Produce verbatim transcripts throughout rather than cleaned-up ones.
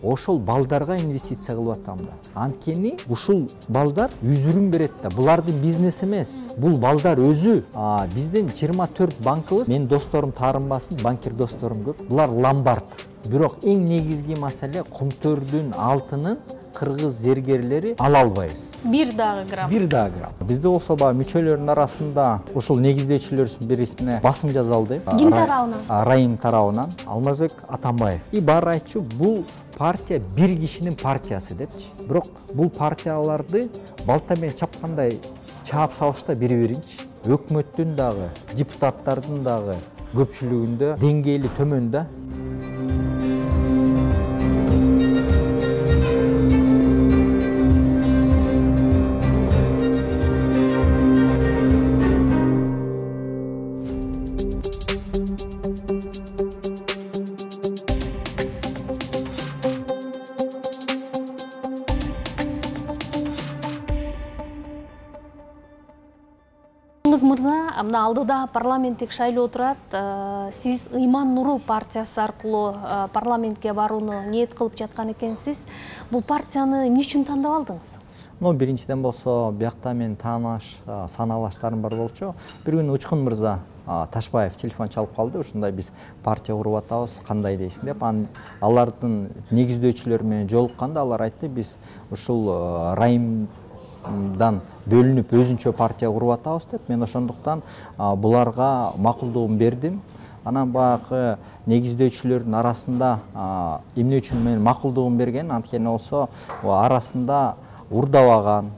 ошол балдарга инвестиция кылып атам да. Анткени ушул балдар үзүрүн берет да. Булардын бизнес эмес. Бул балдар өзү. Биздин жыйырма төрт банкыбыз, менин досторум таарынбасын, банкир досторум көп. Булар ломбард. Бирок эң негизги маселе кумтөрдүн алтынын кыргыз зергерлери ала албайбыз. Бир дагы грамм. Бир дагы грамм. Бизде болсо баягы мүчөлөрдүн арасында ушул негиздөөчүлөрдүн бирисине басым жасалды. Ким тарабынан? Райым тарабынан. Алмазбек Атамбаев. И баары айтчу, бул партия бир кишинин партиясы депчи. Бирок бул партияларды балта менен чапкандай чаап салышта бири-биринчи. Өкмөттүн дагы, депутаттардын дагы көпчүлүгүндө деңгээли төмөн да. Мырза, мына алдыда парламенттик шайлоо турат. Сиз Ыйман Нуру партиясы аркылуу парламентке барууну ниет кылып жаткан экенсиз. Бул партияны эмне үчүн тандап алдыңыз? Ну, биринчиден болсо, биякта мен тааныш, саналаштарым бар болчу. Бир күнү Учкун мырза Ташбаев телефон чалып калды. Ушундай биз партия куруп атабыз, кандай дейсиң деп. Алардын негиздөөчүлөрү менен жолукканда алар айтты, биз ушул Райым дан бөлүнүп өзүнчө партия куруп атабыз деп. Мен ошондуктан буларга макулдугун бердим. Анан баягы негиздөөчүлөрдүн арасында эмне үчүн мен макулдугун берген, анткени болсо арасында урдабаган,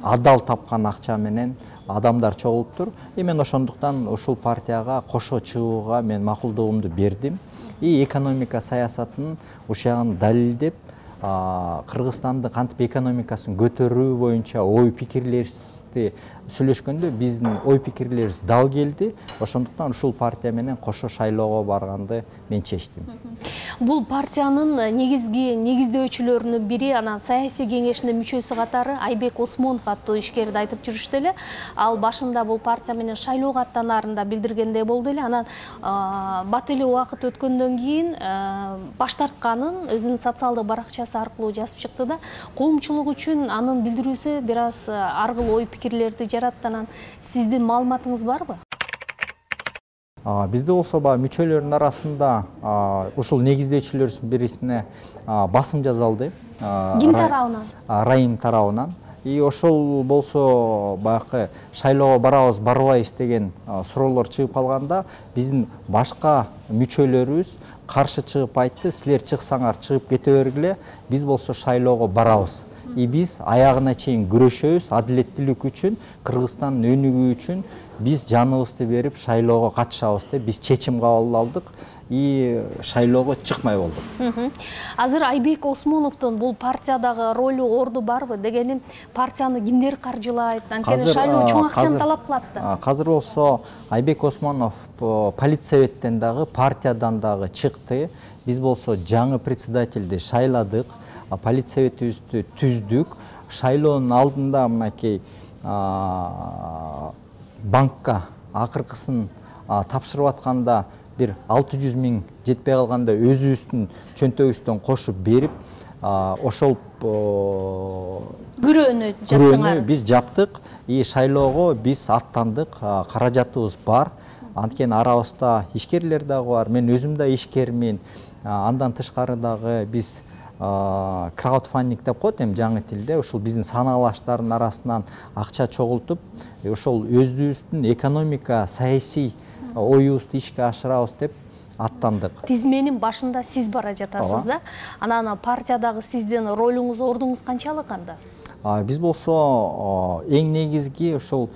адал тапкан акча менен адамдар чогулуптур. И мен ошондуктан ушул партияга кошо чыгууга мен макулдугумду бердим. И экономика саясатын ушягын далилдеп, Кыргызстандын кантип экономикасын көтөрүү боюнча ой пикирлерди сүйлөшкөндө биздин ой пикирлерибиз дал келди. Ошондуктан ушул партия менен кошо шайлоого барганды мен чечтим. Бул партиянын негизги негиздөөчүлөрүнүн бири, анан саясий кеңешинин мүчөсү катары Айбек Осмонов аттуу ишкерди айтып жүрүштү эле. Ал башында бул партия менен шайлоого аттанаарында билдиргендей болду эле. Анан бат эле убакыт өткөндөн кийин баш тартканын өзүнүн социалдык баракчасы аркылуу жазып чыкты да. Коомчулук үчүн анын билдирүүсү бир аз ар кыл ой пикирлерди жаратты. Анан сиздин маалыматыңыз барбы? Бизде болсо баягы мүчөлөрдүн арасында ушул негиздөөчүлөрдүн бирисине басым жасалды. Ким тарабынан? Райым тарабынан. И ошол болсо баягы шайлоого барабыз, барбайбыз деген суроолор чыгып калганда, биздин башка мүчөлөрүбүз каршы чыгып айтты, силер чыксаңар чыгып кете бергиле, биз болсо шайлоого барабыз. И биз аягына чейин күрөшөбүз, адилеттүүлүк үчүн, Кыргызстандын өнүгүү үчүн биз жаныбызды берип шайлоого катышабыз деп биз чечим кабыл алдык и шайлоого чыкмай болдук. Азыр Айбек Осмоновдун бул партиядагы ролу, орду барбы? Дегеним, партияны кимдер каржылайт? Анткени шайлоо чоң акчаны талап кылат да. Азыр болсо Айбек Осмонов политсоветтен дагы, партиядан дагы чыкты. Биз болсо жаңы председательди шайладык. Политсоветибизди түздүк. Шайлоонун алдында мынакей банкка акыркысын тапшырып атканда бир алты жүз миң жетпей калганда өзүбүздүн чөнтөгүбүздөн кошуп берип, ошол күрөөнү күрөөнү биз жаптык. И шайлоого биз аттандык. Каражатыбыз бар. Анткени арабызда ишкерлер дагы бар. Мен өзүм да ишкермин. Андан тышкары дагы биз краудфандинг деп коет эми жаңы тилде, ушул биздин санаалаштардын арасынан акча чогултуп, ошол өзүбүздүн экономика, саясий оюбузду ишке ашырабыз деп аттандык. Тизменин башында сиз бара жатасыз да. Анан партиядагы сиздин ролуңуз, ордуңуз канчалык анда? Биз болсо эң негизги ушул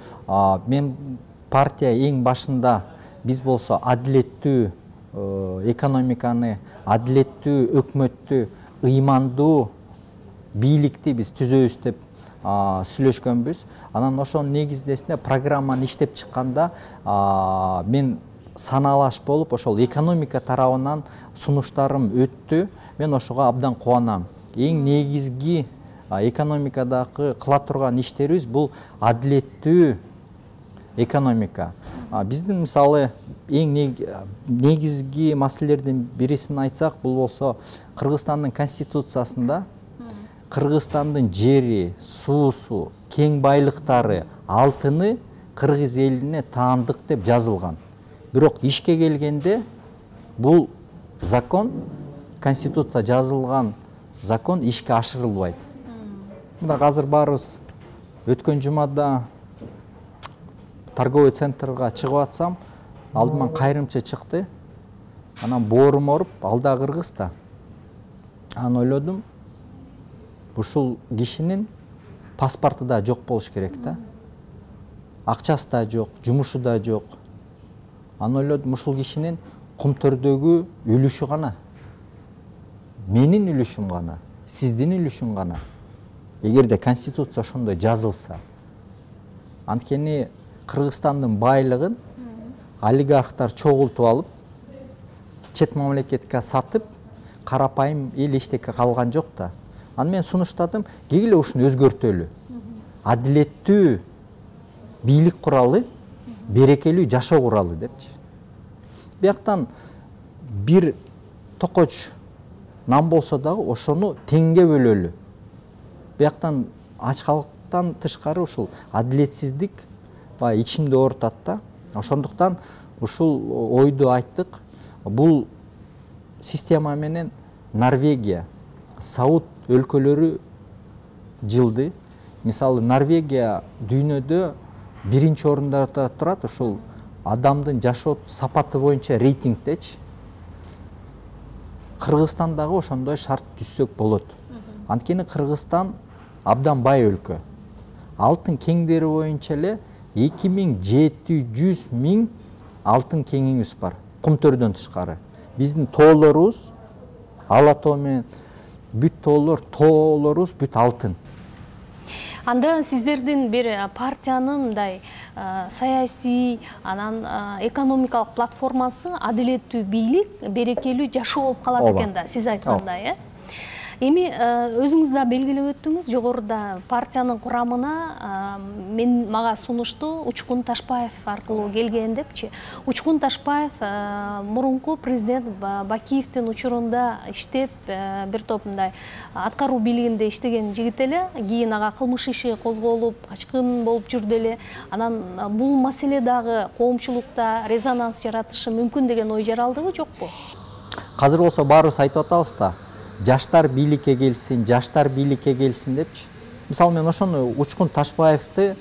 мен партия эң башында биз болсо адилеттүү экономиканы, адилеттүү өкмөттү, ыймандуу бийликти биз түзөбүз деп сүйлөшкөнбүз. Анан ошонун негиздесинде программаны иштеп чыкканда мен санаалаш болуп, ошол экономика тарабынан сунуштарым өттү. Мен ошого абдан кубанам. Эң негизги экономикадагы кыла турган иштерибиз бул адилеттүү экономика. Биздин мисалы эң негизги маселелердин бирисин айтсак, бул болсо Кыргызстандын конституциясында Кыргызстандын жери, суусу, кең байлыктары, алтыны кыргыз элине таандык деп жазылган. Бирок ишке келгенде бул закон, конституция жазылган закон ишке ашырылбайт. Мында азыр барыбыз өткөн жумада торговый центрга чыгып атсам, алдыман кайрымчы чыкты. Анан боорум оруп, алда кыргыз да. Анан ойлодум, ушул кишинин паспорту да жок болуш керек да. Акчасы да жок, жумушу да жок. Анан ойлодум, ушул кишинин Кумтөрдөгү үлүшү гана. Менин үлүшүм гана, сиздин үлүшүң гана. Эгерде конституция ошондой жазылса, анткени Кыргызстандын байлыгын олигархтар чогултуп алып, чет мамлекетке сатып, карапайым эл эчтеке калган жок да. Аны мен сунуштадым, кегиле ушуну өзгөртөлү. Адилеттүү бийлик куралы, берекелүү жашоо куралы депчи. Бияктан бир токоч нан болсо дагы ошону теңге бөлөлү. Бияктан ач калктан тышкары ушул адилетсиздик баягы ичимди оорутат да. Ошондуктан ушул ойду айттык. Бул система менен Норвегия, Сауд өлкөлөрү жылды. Мисалы Норвегия дүйнөдө биринчи орундарда турат, ушул адамдын жашоо сапаты боюнча рейтингдечи. Кыргызстан дагы ошондой шарт түзсөк болот. Анткени Кыргызстан абдан бай өлкө. Алтын кеңдери боюнча эле эки миң жети жүз миң алтын кеңигибиз бар. Кумтөрдөн тышкары. Биздин тоолорубуз, ала тоо менен бүт тоолор, тоолорубуз бүт алтын. Анда сиздердин бир партиянын мындай саясий, анан экономикалык платформасы адилеттүү бийлик, берекелүү жашоо болуп калат экен да, сиз айткандай, э? Эми өзүңүз да белгилеп өттүңүз, жогоруда партиянын курамына мен мага сунушту Учкун Ташпаев аркылуу келген депчи. Учкун Ташпаев мурунку президент Бакиевдин учурунда иштеп, бир топ мындай аткаруу бийлигинде иштеген жигит эле, кийин ага кылмыш иши козголуп, качкын болуп жүрдү эле. Анан бул маселе дагы коомчулукта резонанс жаратышы мүмкүн деген ой жаралдыбы, жокпу? Азыр болсо баарыбыз айтып атабыз да. Жаштар бийликке келсин, жаштар бийликке келсин депчи. Мисалы мен ошону Учкун Ташпаевди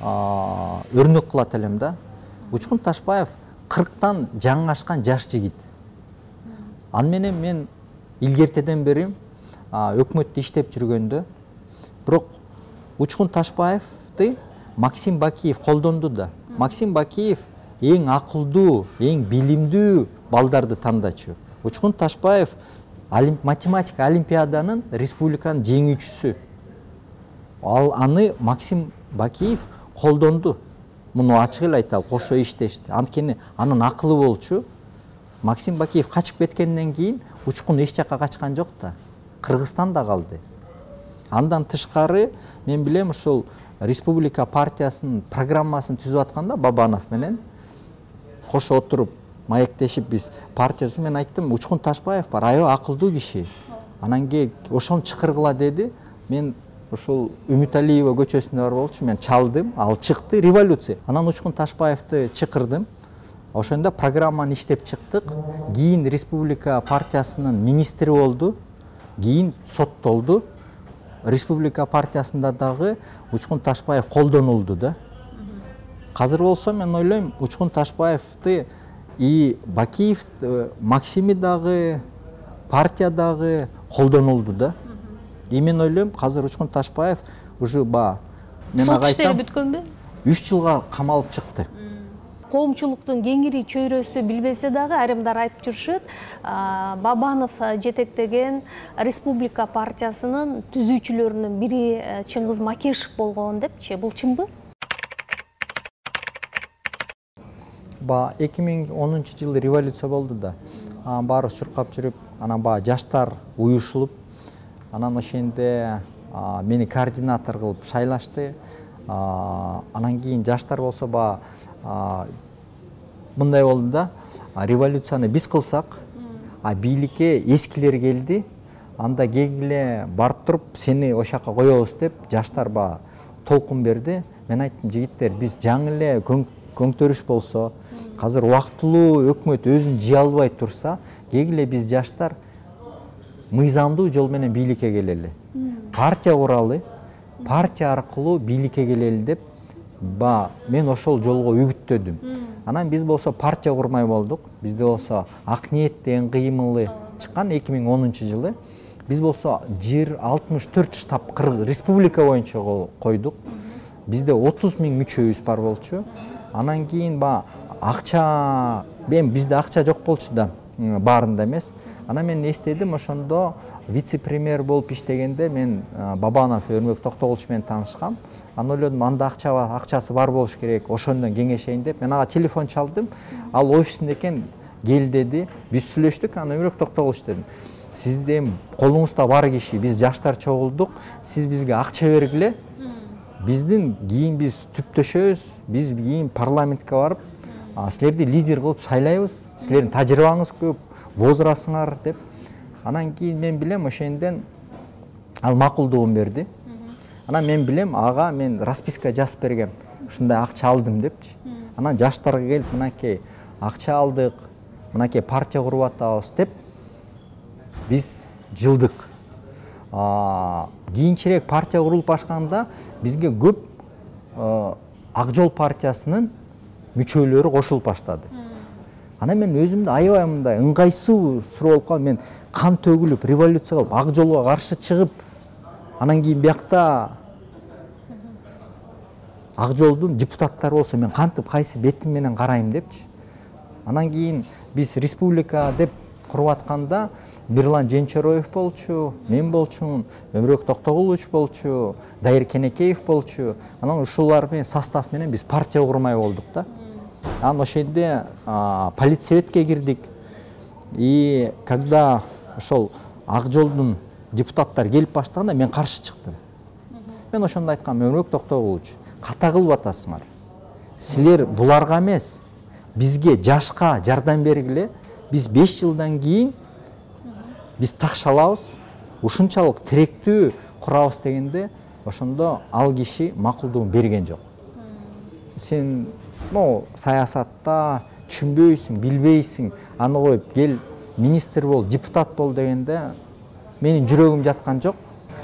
өрнөк кылат элем да. Учкун Ташпаев кырктан жаңы ашкан жаш жигит. Аны менен мен илгертеден бери өкмөттө иштеп жүргөндө, бирок Учкун Ташпаевди Максим Бакиев колдонду да. Максим Бакиев эң акылдуу, эң билимдүү балдарды тандачу. Учкун Ташпаев математика олимпиаданын республиканын жеңүүчүсү. Ал аны Максим Бакиев колдонду. Муну ачык эле айталы, кошо иштешти. Анткени анын акылы болчу. Максим Бакиев качып кеткенден кийин Учкун эч жакка качкан жок да. Кыргызстанда калды. Андан тышкары мен билем, ушул республика партиясынын программасын түзүп атканда Бабанов менен кошо отуруп маектешип биз партиясы, мен айттым, Учкун Ташпаев бар, аябай акылдуу киши. Анан кел ошону чакыргыла деди. Мен ушул Үмүталиева көчөсүндө бар болчу, мен чалдым, ал чыкты, революция. Анан Учкун Ташпаевди чакырдым. Ошондо программаны иштеп чыктык. Кийин республика партиясынын министри болду. Кийин соттолду. Республика партиясында дагы Учкун Ташпаев колдонулду да. Азыр болсо мен ойлойм, Учкун Ташпаевди и Бакиев, Максими дагы, партия дагы колдонулду да. И мен ойлойм, азыр Учкун Ташпаев уже ба мен ага айтам, сот иштери бүткөнбү? үч жылга камалып чыкты. Коомчулуктун кеңири чөйрөсү билбесе дагы айрымдар айтып жүрүшөт, Бабанов жетектеген республика партиясынын түзүүчүлөрүнүн бири Чыңгыз Макешев болгон депчи. Бул чынбы? Ба эки миң онунчу жылы революция болду да. Баарыбыз чуркап жүрүп, анан ба жаштар уюшулуп, анан ошенде мени координатор кылып шайлашты. Анан кийин жаштар болсо баягы мындай болду да, революцияны биз кылсак, а бийликке эскилер келди, анда келгиле барып туруп сени ошол жака коебуз деп жаштар баягы толкун берди. Мен айттым, жигиттер, биз жаңы эле көңтөрүш болсо, азыр убактылуу өкмөт өзүн жие албай турса, келгиле биз жаштар мыйзамдуу жол менен бийликке келели. Партия куралы, партия аркылуу бийликке келели деп ба мен ошол жолго үгүттөдүм. Анан биз болсо партия курмай болдук. Бизде болсо Ак ниет деген кыймылы чыккан эки миң онунчу жылы. Биз болсо жер алтымыш төрт штаб республика боюнча койдук. Бизде отуз миң мүчөбүз бар болчу. Анан кийин ба акча, мен бизде акча жок болчу да, баарында эмес. Анан мен эстедим, ошондо вице-премьер болуп иштегенде мен Бабанов Өрмөк Токтогулович менен таанышкам. Анан ойлодум, анда акча бар, акчасы бар болуш керек, ошондон кеңешейин деп. Мен ага телефон чалдым. Ал офисинде экен, кел деди. Биз сүйлөштүк, анан Өрмөк Токтогулович дедим. Сиз эми колуңузда бар киши, биз жаштар чогулдук, сиз бизге акча бергиле. Биздин кийин биз түптөшөбүз, биз кийин парламентке барып, силерди лидер кылып шайлайбыз, силердин тажрыйбаңыз көп, возрастыңар деп. Анан кийин мен билем, ошонден ал макулдугун берди. Анан мен билем, ага мен расписка жазып бергем, ушундай акча алдым депчи. Анан жаштарга келип, мынакей акча алдык, мынакей партия куруп атабыз деп биз жылдык. Кийинчерээк партия курулуп башканда бизге көп Ак жол партиясынын мүчөлөрү кошулуп баштады. Анан мен өзүмдү аябай мындай ыңгайсыз болуп калдым. Мен кан төгүлүп, революция кылып, Ак жолго каршы чыгып, анан кийин биякта Ак жолдун депутаттары болсо мен кантип кайсы бетим менен карайм депчи. Анан кийин биз республика деп куруп атканда Бирлан Женчороев болчу, мен болчумун, Өмүрөк Токтогулович болчу, Дайыр Кенекеев болчу. Анан ушулар менен состав менен биз партия курмай болдук да. Анан ошенде политсоветке кирдик. И когда ошол Ак жолдун депутаттар келип баштаганда мен каршы чыктым. Мен ошондо айткам, Өмүрөк Токтогулович, ката кылып атасыңар. Силер буларга эмес, бизге жашка жардам бергиле. Биз беш жылдан кийин биз такшалабыз, ушунчалык тиректүү курабыз дегенде, ошондо ал киши макулдугун берген жок. Сен, ну, саясатта түшүнбөйсүң, билбейсиң, аны коюп кел министр бол, депутат бол дегенде менин жүрөгүм жаткан жок.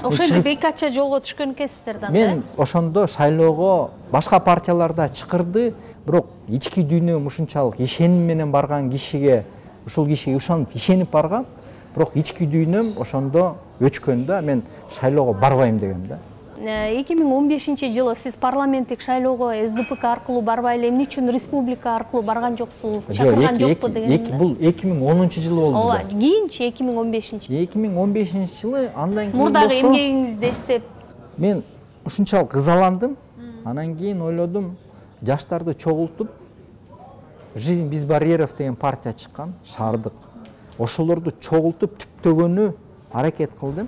Ошондо бейкача жолго түшкөн экенсиздер да. Мен ошондо шайлоого башка партияларда чакырды, бирок ички дүйнөм ушунчалык ишеним менен барган кишиге, ушул кишиге ушанып ишенип баргам, бирок ички дүйнөм ошондо өчкөндө мен шайлоого барбайм дегем да. эки миң он бешинчи жылы сиз парламенттик шайлоого эс ди пэ ка аркылуу барбай эле эмне үчүн республика аркылуу барган жоксуз, чакырган жокпу деген. Бул эки миң онунчу жылы болду. Ооба, кийинчи эки миң он бешинчи. эки миң он бешинчи жылы андан кийин мурдагы эмгегиңизди эстеп мен ушунчалык ызаландым. Анан кийин ойлодум, жаштарды чогултуп, Жизнь без барьеров деген партия чыккан, шаардык. Ошолорду чогултуп түптөгөнү аракет кылдым.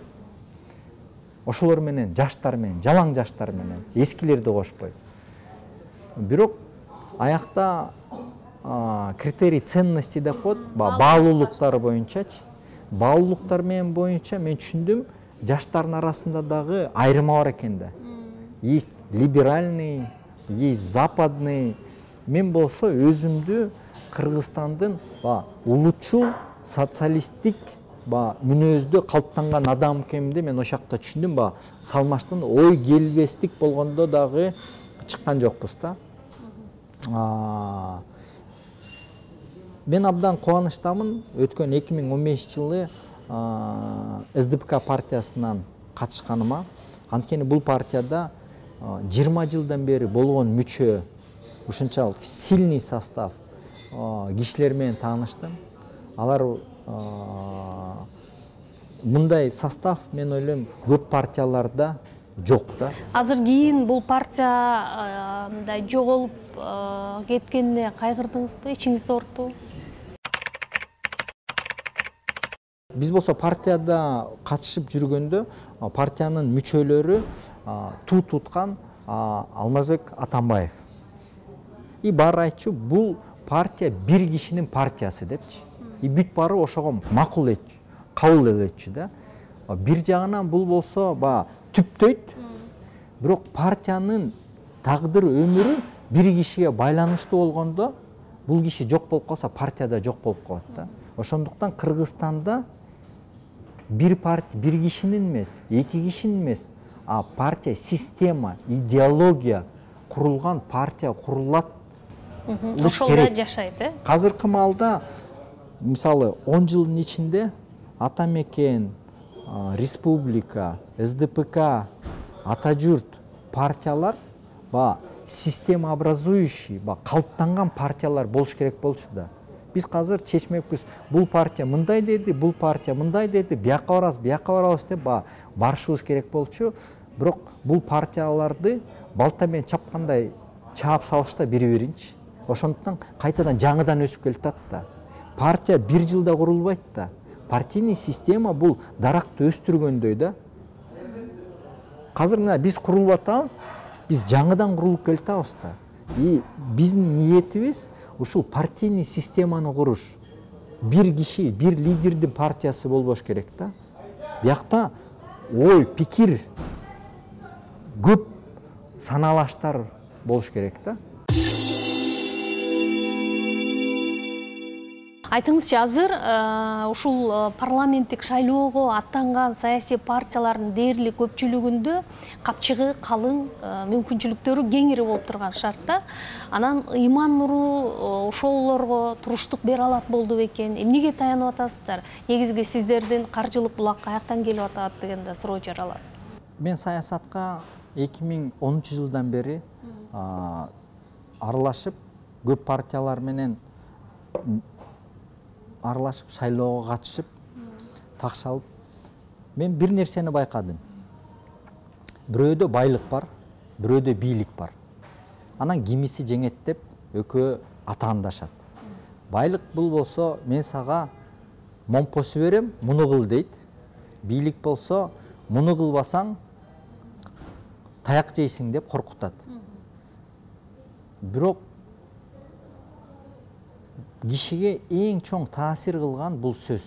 Ошолор менен, жаштар менен, жалаң жаштар менен, эскилерди кошпой. Бирок аякта критерий ценности деп коет, баалуулуктар боюнчачы. Баалуулуктар менен боюнча мен түшүндүм, жаштардын арасында дагы айырма бар экен да. Есть либеральный, есть западный. Мен болсо өзүмдү Кыргызстандын улутчул, социалисттик мүнөздө калыптанган адам экенимди мен ошакта түшүндүм. Ба салмаштан ой келбестик болгондо дагы чыккан жокпуз да. Мен абдан кубанычтамын. Өткөн эки миң он бешинчи жылы эс ди пэ ка партиясынан катышканыма. Анткени бул партияда жыйырма жылдан бери болгон мүчө, ушунчалык сильный состав кишилер менен тааныштым. Алар мындай состав, мен ойлойм, көп партияларда жок да. Азыр кийин бул партия мындай жоголуп кеткенине кайгырдыңызбы? Ичиңизде оорттубу? Биз болсо партияда катышып жүргөндө партиянын мүчөлөрү туу туткан Алмазбек Атамбаев. И баары айтчу, бул партия бир кишинин партиясы депчи. И бүт баары ошого макул этчү, кабыл элетчү да. Бир жагынан бул болсо ба түптөйт. Бирок партиянын тагдыры, өмүрү бир кишиге байланыштуу болгондо, бул киши жок болуп калса, партия да жок болуп калат да. Ошондуктан Кыргызстанда бир партия, бир кишинин эмес, эки кишинин эмес, а партия, система, идеология курулган партия курулат. Ошолда жашайт, э? Азыркы маалда мисалы он жылдын ичинде Ата Мекен, Республика, эс дэ пэ ка, Ата Журт партиялар ба система образующий, ба калыптанган партиялар болуш керек болчу да. Биз азыр чечмекпиз, бул партия мындай деди, бул партия мындай деди, бияка барабыз, бияка барабыз деп ба барышыбыз керек болчу. Бирок бул партияларды балта менен чапкандай чаап салышта бири-биринчи. Ошондуктан кайтадан жаңыдан өсүп келатат да. Партия бир жылда курулбайт да. Партийный система бул даракты өстүргөндөй да. Азыр мына биз курулуп атабыз, биз жаңыдан курулуп келатабыз да. И биздин ниетибиз ушул партийный системаны куруш. Бир киши, бир лидердин партиясы болбош керек да. Биякта ой, пикир көп саналаштар болуш керек да. Айтыңызчы, азыр ушул парламенттик шайлоого аттанган саясий партиялардын дээрлик көпчүлүгүндө капчыгы калың, мүмкүнчүлүктөрү кеңири болуп турган шартта, анан Ыйман Нуру ошолорго туруштук бере алат болду бекен? Эмнеге таянып атасыздар? Негизги сиздердин каржылык булак каяктан келип атат деген да суроо жаралат. Мен саясатка эки миң онунчу жылдан бери аралашып, көп партиялар менен аралашып, шайлоого катышып, такшалып, мен бир нерсени байкадым. Бирөөдө байлык бар, бирөөдө бийлик бар. Анан кимиси жеңет деп экөө атаандашат. Байлык бул болсо, мен сага момпосу берем, муну кыл дейт. Бийлик болсо, муну кылбасаң таяк жейсиң деп коркутат. Бирок кишиге эң чоң таасир кылган бул сөз.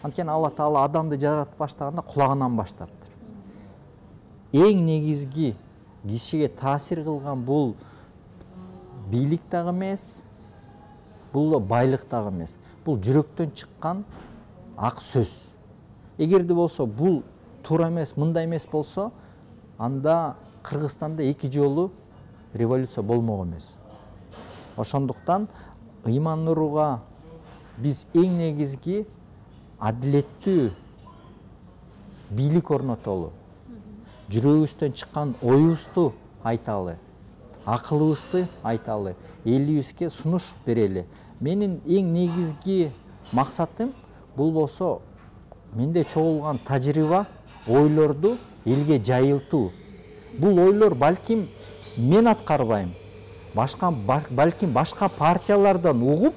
Анткени Алла Таала адамды жаратып баштаганда кулагынан баштаптыр. Эң негизги кишиге таасир кылган бул бийлик дагы эмес, бул байлык дагы эмес. Бул жүрөктөн чыккан ак сөз. Эгерде болсо бул туура эмес, мындай эмес болсо, анда Кыргызстанда эки жолу революция болмок эмес. Ошондуктан Ыйман Нуруга биз эң негизги адилеттүү бийлик орнотолу. Жүрөгүбүздөн чыккан оюбузду айталы, акылыбызды айталы, элибизге сунуш берели. Менин эң негизги максатым бул болсо, менде чогулган тажрыйба, ойлорду элге жайылтуу. Бул ойлор балким мен аткарбайм, башка балким башка партиялардан угуп,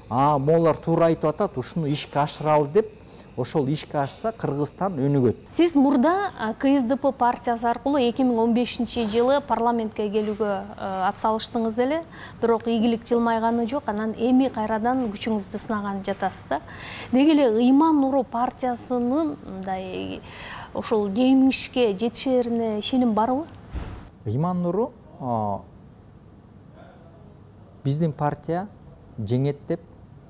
а молар туура айтып атат, ушуну ишке ашыралы деп, ошол ишке ашса Кыргызстан өнүгөт. Сиз мурда ка эс дэ пэ партиясы аркылуу эки миң он бешинчи жылы парламентке келүүгө атсалыштыңыз эле, бирок ийгилик жылмайганы жок, анан эми кайрадан күчүңүздү сынаган жатасыз да. Деги эле Ыйман Нуру партиясынын мындай ошол жеңишке жетишерине ишеним барбы? Ыйман Нуру биздин партия жеңет деп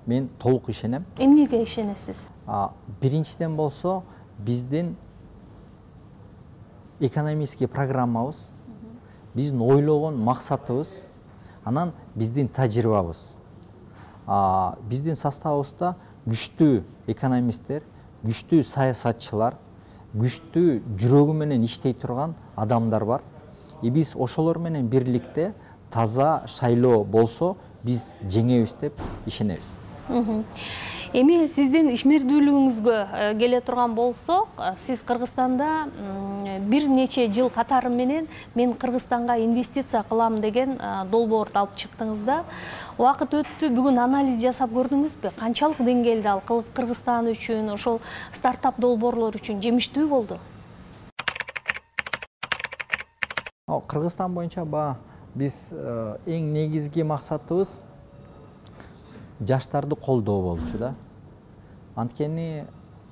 мен толук ишенем. Эмнеге ишенесиз? Биринчиден болсо, биздин экономический программабыз, биздин ойлогон максатыбыз, анан биздин тажрыйбабыз. Биздин составыбызда күчтүү экономисттер, күчтүү саясатчылар, күчтүү жүрөгү менен иштей турган адамдар бар. И биз ошолор менен бирликте таза шайлоо болсо, биз жеңебиз деп ишенебиз. Эми сиздин ишмердүүлүгүңүзгө келе турган болсок, сиз Кыргызстанда бир нече жыл катары менен мен Кыргызстанга инвестиция кылам деген долбоорду алып чыктыңыз да. Убакыт өттү, бүгүн анализ жасап көрдүңүзбү? Канчалык деңгээлде ал Кыргызстан үчүн, ошол стартап долбоорлор үчүн жемиштүү болду? Кыргызстан боюнча ба биз эң негизги максатыбыз жаштарды колдоо болчу да. Анткени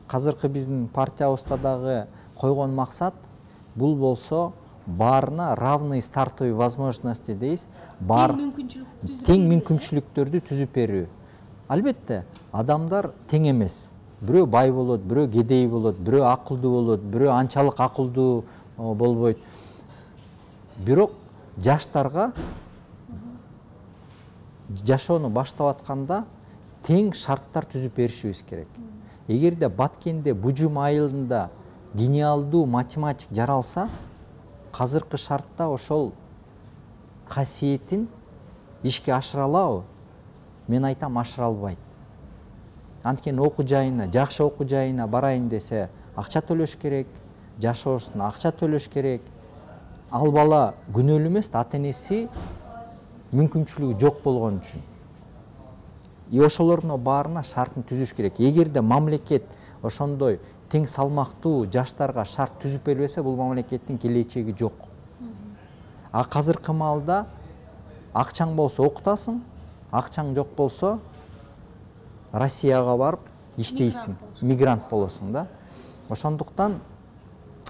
азыркы биздин партиябызда дагы койгон максат бул болсо баарына равный стартовый возможности дейбиз, бар тең мүмкүнчүлүктөрдү түзүп берүү. Албетте, адамдар тең эмес. Бирөө бай болот, бирөө кедей болот, бирөө акылдуу болот, бирөө анчалык акылдуу болбойт. Бирок жаштарга жашоону баштап атканда тең шарттар түзүп беришибиз керек. Эгерде Баткенде Бужум айылында гениалдуу математик жаралса, азыркы шартта ошол касиетин ишке ашыра алабы? Мен айтам, ашыра албайт. Анткени окуу жайына, жакшы окуу жайына барайын десе, акча төлөш керек, жашоосуна акча төлөш керек. Ал бала күнөөлүү эмес, ата-энеси мүмкүнчүлүгү жок болгон үчүн. И ошолордун баарына шартын түзүш керек. Эгерде мамлекет ошондой тең салмактуу жаштарга шарт түзүп бербесе, бул мамлекеттин келечеги жок. А азыркы маалда акчаң болсо окутасың, акчаң жок болсо Россияга барып иштейсиң, мигрант болосуң да. Ошондуктан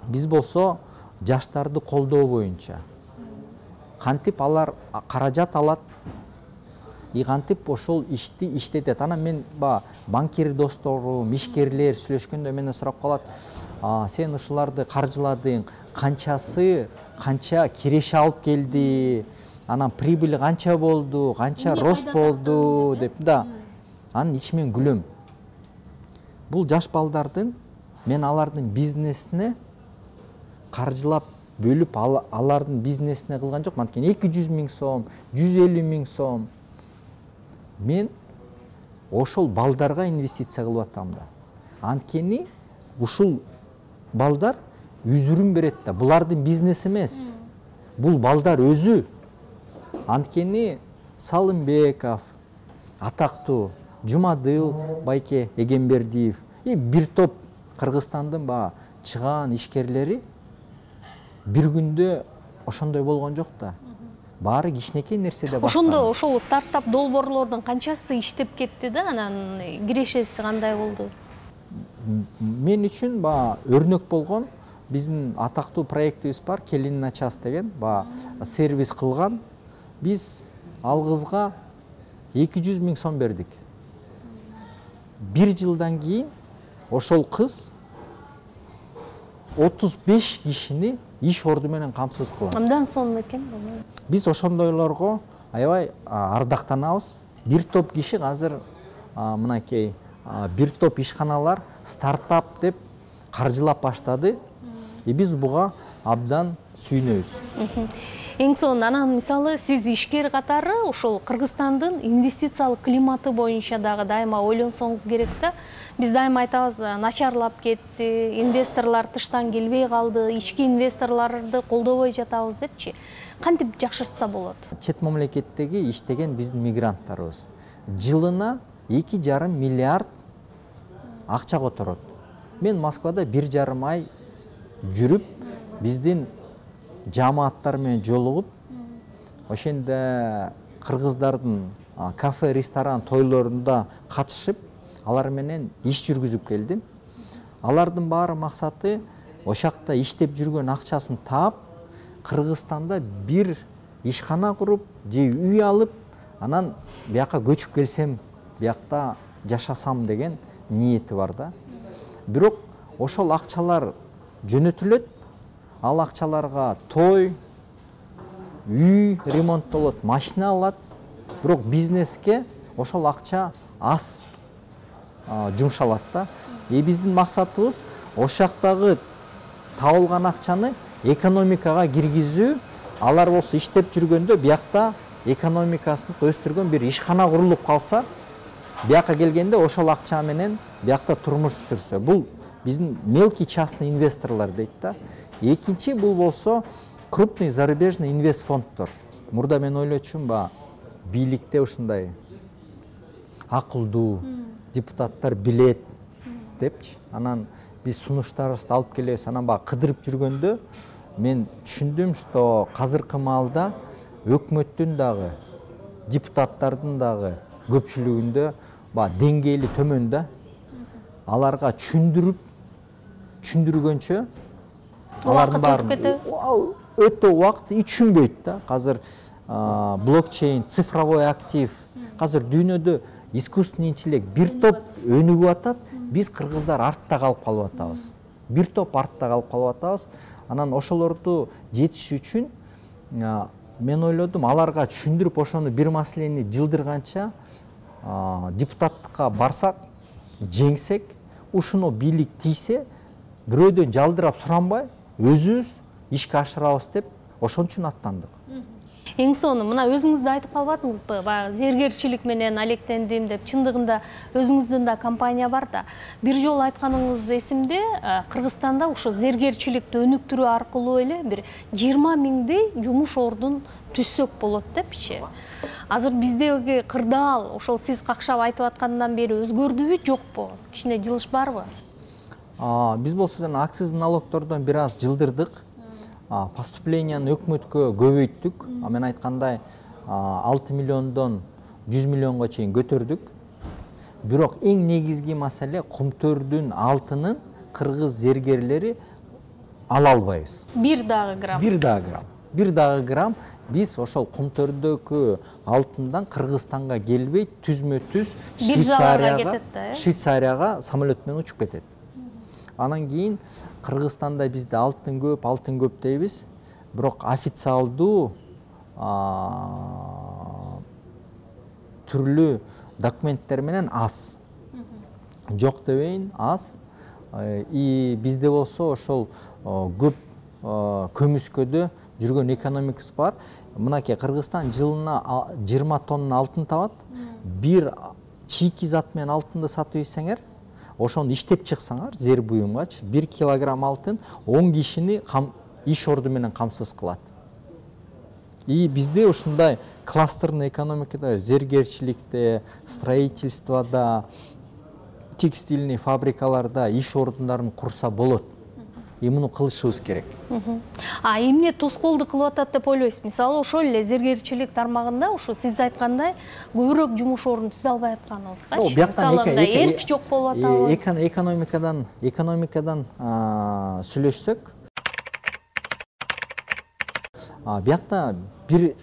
биз болсо жаштарды колдоо боюнча кантип алар каражат алат, и кантип ошол ишти иштетет. Анан мен ба банкир досторум, ишкерлер сүйлөшкөндө менден сурап калат: сен ушуларды каржыладың, канчасы канча киреше алып келди, анан прибыль канча болду, канча рост болду деп да. Анын ичимен күлөм. Бул жаш балдардын, мен алардын бизнесине каржылап бөлүп алардын бизнесине кылган жокмун. Анткени эки жүз миң сом, жүз элүү миң сом мен ошол балдарга инвестиция кылып атам да. Анткени ушул балдар үзүрүн берет да. Булардын бизнес эмес. Бул балдар өзү. Анткени Салымбеков, атактуу Жумадыл Байке Эгембердиев и бир топ Кыргызстандын ба чыгаан ишкерлери бир күндө ошондой болгон жок да. Баары кичинекей нерседе баштаган. Ошондо ошол стартап долбоорлордун канчасы иштеп кетти да, анан кирешеси кандай болду? Мен үчүн ба өрнөк болгон биздин атактуу проектибиз бар, Келин на час деген, ба сервис кылган. Биз ал кызга эки жүз миң сом бердик. Бир жылдан кийин ошол кыз отуз беш кишини иш орду менен камсыз кылат. Андан соң экен. Биз ошондойлорго аябай ардактанабыз. Бир топ киши азыр мынакей бир топ ишканалар стартап деп каржылап баштады. И биз буга абдан сүйүнөбүз. Эң сонун анан мисалы сиз ишкер катары ошол Кыргызстандын инвестициялык климаты боюнча дагы дайыма ойлонсоңуз керек да. Биз дайыма айтабыз, начарлап кетти, инвесторлор тыштан келбей калды, ички инвесторлорду колдобой жатабыз депчи. Кантип жакшыртса болот? Чет мамлекеттеги иштеген биздин мигранттарыбыз жылына эки жарым миллиард акча которот. Мен Москвада бир жарым ай жүрүп, биздин жамааттар менен жолугуп, ошенде кыргыздардын кафе, ресторан, тойлорунда катышып, алар менен иш жүргүзүп келдим. Алардын баары максаты ошакта иштеп жүргөн акчасын таап, Кыргызстанда бир ишкана куруп, же үй алып, анан бияка көчүп келсем, биякта жашасам деген ниети бар да. Бирок ошол акчалар жөнөтүлөт. Ал акчаларга той, үй ремонттолот, машина алат. Бирок бизнеске ошол акча аз жумшалат да. И биздин максатыбыз ошактагы табылган акчаны экономикага киргизүү. Алар болсо иштеп жүргөндө биякта экономикасын өстүргөн бир ишкана курулуп калса, бияка келгенде ошол акча менен биякта турмуш сүрсө. Бул биздин мелкий частный инвесторлор дейт да. Экинчи бул болсо крупный зарубежный инвестфонддор. Мурда мен ойлочумун, ба бийликте ушундай акылдуу депутаттар билет депчи. Анан биз сунуштарыбызды алып келебиз. Анан баягы кыдырып жүргөндө мен түшүндүм, что азыркы маалда өкмөттүн дагы, депутаттардын дагы көпчүлүгүндө баягы деңгээли төмөн да. Аларга түшүндүрүп, түшүндүргөнчө алардын баарын өтө убакыт түшүнбөйт да. Азыр блокчейн, цифровой актив, азыр дүйнөдө искусственный интеллект бир топ өнүгүп атат, биз кыргыздар артта калып калып атабыз. Бир топ артта калып калып атабыз. Анан ошолорду жетиш үчүн мен ойлодум, аларга түшүндүрүп ошону бир маселени жылдырганча депутаттыкка барсак, жеңсек, ушуну бийлик тийсе, бирөөдөн жалдырап суранбай, өзүбүз ишке ашырабыз деп ошон үчүн аттандык. Эң соңу мына өзүңүз да айтып калбадыңызбы, баягы зергерчилик менен алектендим деп. Чындыгында өзүңүздүн да компания бар да. Бир жолу айтканыңыз эсимде, Кыргызстанда ошо зергерчиликти өнүктүрүү аркылуу эле бир жыйырма миңдей жумуш ордун түзсөк болот депчи. Азыр биздеги кырдаал ошол сиз какшап айтып аткандан бери өзгөрдүбү, жокпу? Кичине жылыш барбы? Биз болсо жана акциз налогтордон бир аз жылдырдык. Поступленияны өкмөткө көбөйттүк. Мен айткандай алты миллиондон жүз миллионго чейин көтөрдүк. Бирок эң негизги маселе Кумтөрдүн алтынын кыргыз зергерлери ала албайбыз. Бир дагы грамм. Бир дагы грамм. Бир дагы грамм биз ошол Кумтөрдөгү алтындан Кыргызстанга келбей, түзмө-түз Швейцарияга, Швейцарияга самолет менен учуп кетет. Анан кийин Кыргызстанда бизде алтын көп, алтын көп дейбиз. Бирок официалдуу түрлүү документтер менен аз. Жок дебейин, аз. И бизде болсо ошол көп көмүскөдө жүргөн экономикасы бар. Мынакей Кыргызстан жылына жыйырма тонна алтын табат. Бир чийки зат менен алтынды сатып ийсеңер, ошону иштеп чыксаңар, зер буюмгачы бир килограмм алтын он кишини иш орду менен камсыз кылат. И бизде ушундай кластерный экономикада, зергерчиликте, строительствода, текстильный фабрикаларда иш ордундарын курса болот. И муну кылышыбыз керек. А эмне тоскоолдук кылып атат деп ойлойсуз? Мисалы, ошол эле зергерчилик тармагында ошо сиз айткандай көбүрөөк жумуш ордун түзө албай атканыбызгачы. Мисалы, эрк жок болуп атабы? Экономикадан, экономикадан сүйлөшсөк, биякта бир,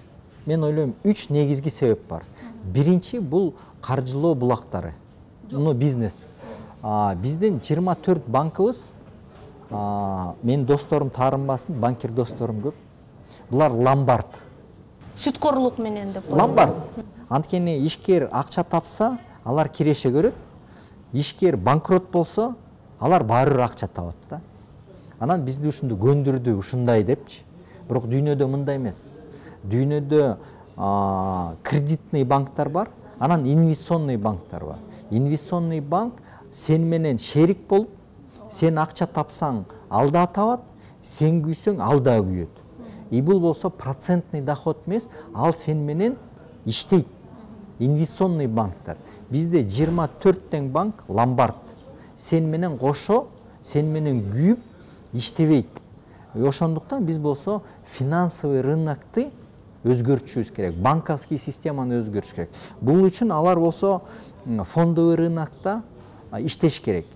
мен ойлойм, үч негизги себеп бар. Биринчи бул каржылоо булактары. Муну бизнес. Биздин жыйырма төрт банкыбыз, мен досторум таарынбасын, банкир досторум көп. Булар ломбард. Сүткорлук менен деп. Ломбард. Анткени ишкер акча тапса, алар киреше көрөт. Ишкер банкрот болсо, алар баары бир акча табат да. Анан бизди ушунду көндүрдү, ушундай депчи. Бирок дүйнөдө мындай эмес. Дүйнөдө кредитный банктар бар, анан инвестиционный банктар бар. Инвестиционный банк сен менен шерик болуп, сен акча тапсаң, ал да табат, сен күйсөң, ал да күйөт. И бул болсо процентный доход эмес, ал сен менен иштейт. Инвестиционный банктар. Бизде жыйырма төрт тең банк ломбард. Сен менен кошо, сен менен күйүп иштебейт. Ошондуктан биз болсо финансовый рынокты өзгөртүшүбүз керек, банковский системаны өзгөртүш керек. Бул үчүн алар болсо фондовый рынокто иштеш керек.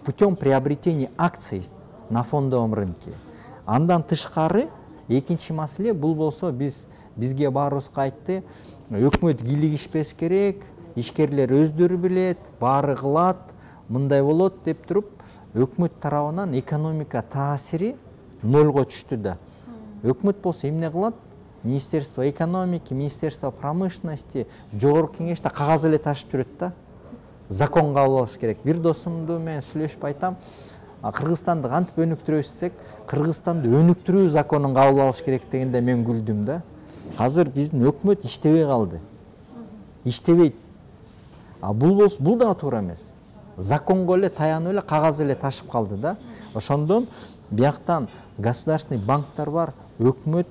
Путем приобретения акций на фондовом рынке. Андан тышкары экинчи маселе бул болсо биз бизге баарыбызга айтты, өкмөт кийлигишпес керек, ишкерлер өздөрү билет, баары кылат, мындай болот деп туруп, өкмөт тарабынан экономика таасири нольго түштү да. Өкмөт болсо эмне кылат? Министерство экономики, Министерство промышленности, жогорку кеңеште кагаз эле ташып жүрөт да. Закон кабыл алыш керек. Бир досумду мен сүйлөшүп айтам, Кыргызстанды кантип өнүктүрөбүз десек, Кыргызстанды өнүктүрүү законун кабыл алыш керек дегенде мен күлдүм да. Азыр биздин өкмөт иштебей калды. Иштебейт. А бул болсо бул да туура эмес. Законго эле таянып эле кагаз эле ташып калды да. Ошондон бияктан государственный банктар бар, өкмөт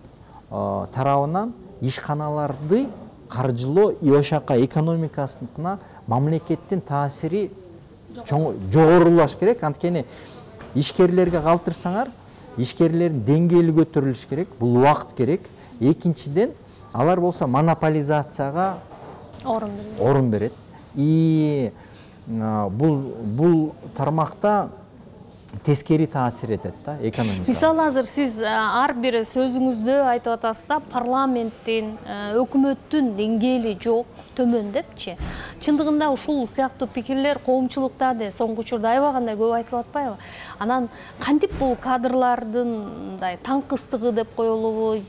тарабынан ишканаларды каржылоо и ошака экономикасына мамлекеттин таасири жогорулаш керек. Анткени ишкерлерге калтырсаңар, ишкерлердин деңгээли көтөрүлүш керек, бул убакыт керек. Экинчиден, алар болсо монополизацияга орун берет. Орун берет. И бул бул тармакта тескери таасир этет да экономикага. Мисалы азыр сиз ар бир сөзүңүздө айтып атасыз да, парламенттин, өкмөттүн деңгээли жок, төмөн депчи. Чындыгында ушул сыяктуу пикирлер коомчулукта да соңку учурда аябагандай көп айтылып атпайбы? Анан кантип бул кадрлардын мындай таңкыстыгы деп коелубу,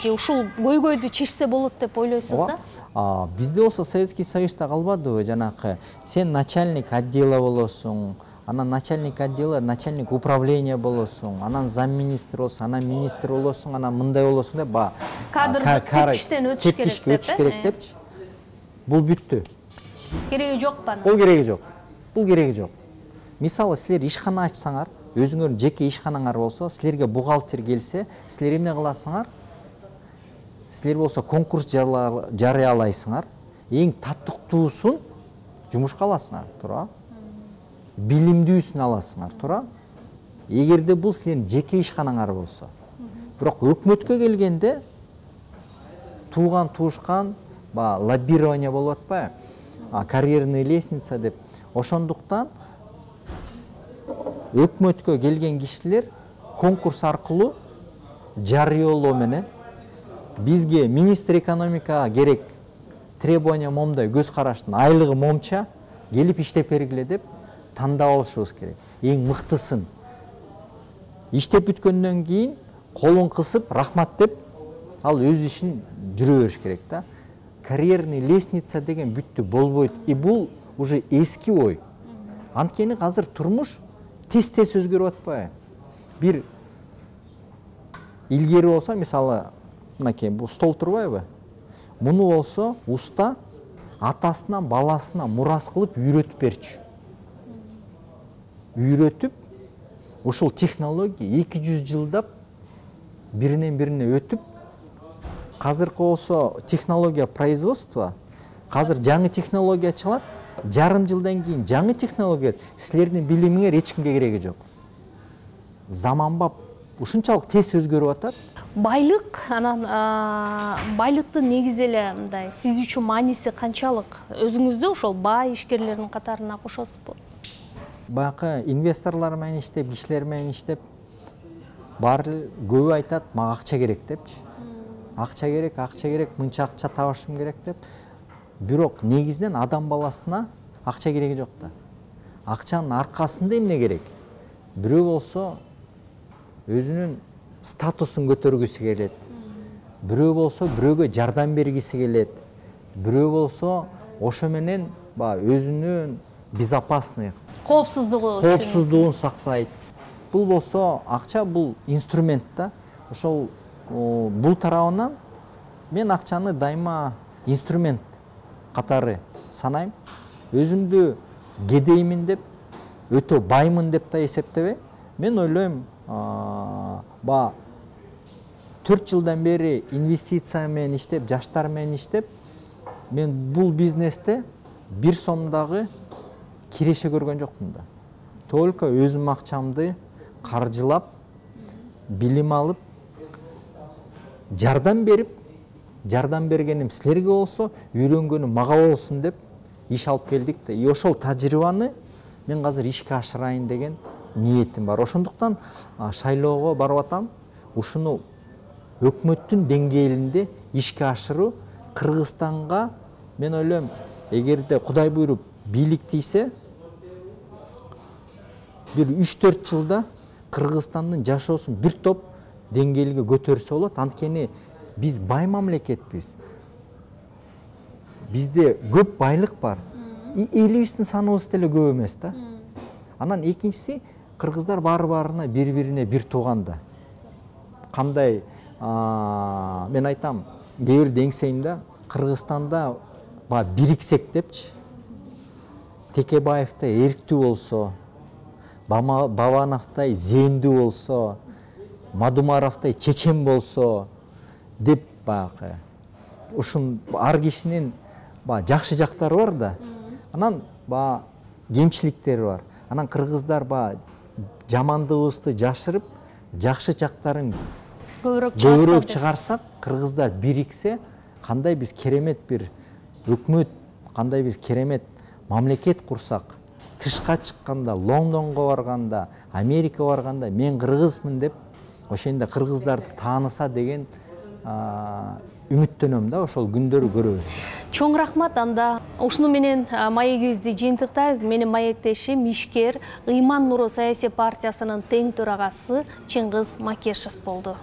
же ушул көйгөйдү чечсе болот деп ойлойсуз да? Бизде болсо Советский Союзда калбадыбы, жанакы сен начальник отдела болосуң, анан начальник отдела, начальник управления болосуң, анан замминистр болсуң, анан министр болосуң, анан мындай болосуң деп, ба кадрдык тепкичтен өтүш керек депчи. Бул бүттү. Кереги жок ба? Бул кереги жок. Бул кереги жок. Мисалы силер ишкана ачсаңар, өзүңөрдүн жеке ишканаңар болсо, силерге бухгалтер келсе, силер эмне кыласыңар? Силер болсо конкурс жарыялайсыңар, эң таттыктуусун жумушка аласыңар, туура? Билимдүүсүн аласыңар, туура? Эгерде бул силердин жеке ишканаңар болсо. Бирок өкмөткө келгенде тууган туушкан, ба лоббирование болуп атпайбы? Карьерный лестница деп. Ошондуктан өкмөткө келген кишилер конкурс аркылуу жарыялоо менен бизге министр экономикага керек требования момдай, көз караштын айлыгы момча, келип иштеп бергиле деп тандап алышыбыз керек. Эң мыктысын. Иштеп бүткөндөн кийин колун кысып, рахмат деп, ал өз ишин жүрө бериш керек да. Карьерный лестница деген бүттү, болбойт. И бул уже эски ой. Анткени азыр турмуш тез-тез өзгөрүп атпайбы? Бир илгери болсо, мисалы, мынакей бул стол турбайбы? Муну болсо уста атасынан баласына мурас кылып үйрөтүп берчү. Үйрөтүп, ушул технология эки жүз жылдап биринен бирине өтүп, казыркы болсо технология производства, казыр жаңы технология чыгат, жарым жылдан кийин жаңы технология, силердин билимиңер эч кимге кереги жок. Заманбап ушунчалык тез өзгөрүп атат. Байлык, анан байлыктын негизи эле мындай сиз үчүн мааниси канчалык? Өзүңүздү ошол бай ишкерлердин катарына кошосузбу? Баягы инвесторлор менен иштеп, кишилер менен иштеп, баары көбү айтат, мага акча керек депчи. Акча керек, акча керек, мынча акча табышым керек деп. Бирок негизинен адам баласына акча кереги жок да. Акчанын аркасында эмне керек? Бирөө болсо өзүнүн статусун көтөргүсү келет. Бирөө болсо бирөөгө жардам бергиси келет. Бирөө болсо ошо менен ба өзүнүн безопасный, коопсуздугу коопсуздугун сактайт. Бул болсо акча, бул инструмент да. Ошол бул тарабынан мен акчаны дайыма инструмент катары санайм. Өзүмдү кедеймин деп, өтө баймын деп да эсептебейм. Мен ойлойм, ба төрт жылдан бери инвестиция менен иштеп, жаштар менен иштеп, мен бул бизнесте бир сомдагы киреше көргөн жокмун да. Только өзүм акчамды каржылап, билим алып, жардам берип, жардам бергеним силерге болсо, үйрөнгөнүм мага болсун деп иш алып келдик да. И ошол тажрыйбаны мен азыр ишке ашырайын деген ниетим бар. Ошондуктан шайлоого барып атам. Ушуну өкмөттүн деңгээлинде ишке ашыруу, Кыргызстанга мен ойлойм, эгерде Кудай буйруп бийлик тийсе, бир үч төрт жылда Кыргызстандын жашоосун бир топ деңгээлге көтөрсө болот. Анткени биз бай мамлекетпиз. Бизде көп байлык бар. Элибиздин саныбыз деле көп эмес да. Анан экинчиси, кыргыздар баары-баарына бири-бирине бир тууган да. Кандай, мен айтам, кээ бирде эңсейм да, Кыргызстанда ба бириксек депчи. Текебаевтай эрктүү болсо, Бабановтай зээндүү болсо, Мадумаровтай чечен болсо деп баягы. Ушун ар кишинин ба жакшы жактары бар да. Анан ба кемчиликтери бар. Анан кыргыздар ба жамандыгыбызды жашырып, жакшы жактарын көбүрөөк көбүрөөк чыгарсак, кыргыздар бириксе, кандай биз керемет бир өкмөт, кандай биз керемет мамлекет курсак, тышка чыкканда, Лондонго барганда, Америкага барганда мен кыргызмын деп ошондо кыргыздарды тааныса деген үмүттөнөм да, ошол күндөрү көрөбүз. Чоң рахмат. Анда ушуну менен маегибизди жыйынтыктайбыз. Менин маектешим ишкер Ыйман Нуру саясий партиясынын тең төрагасы Чыңгыз Макешев болду.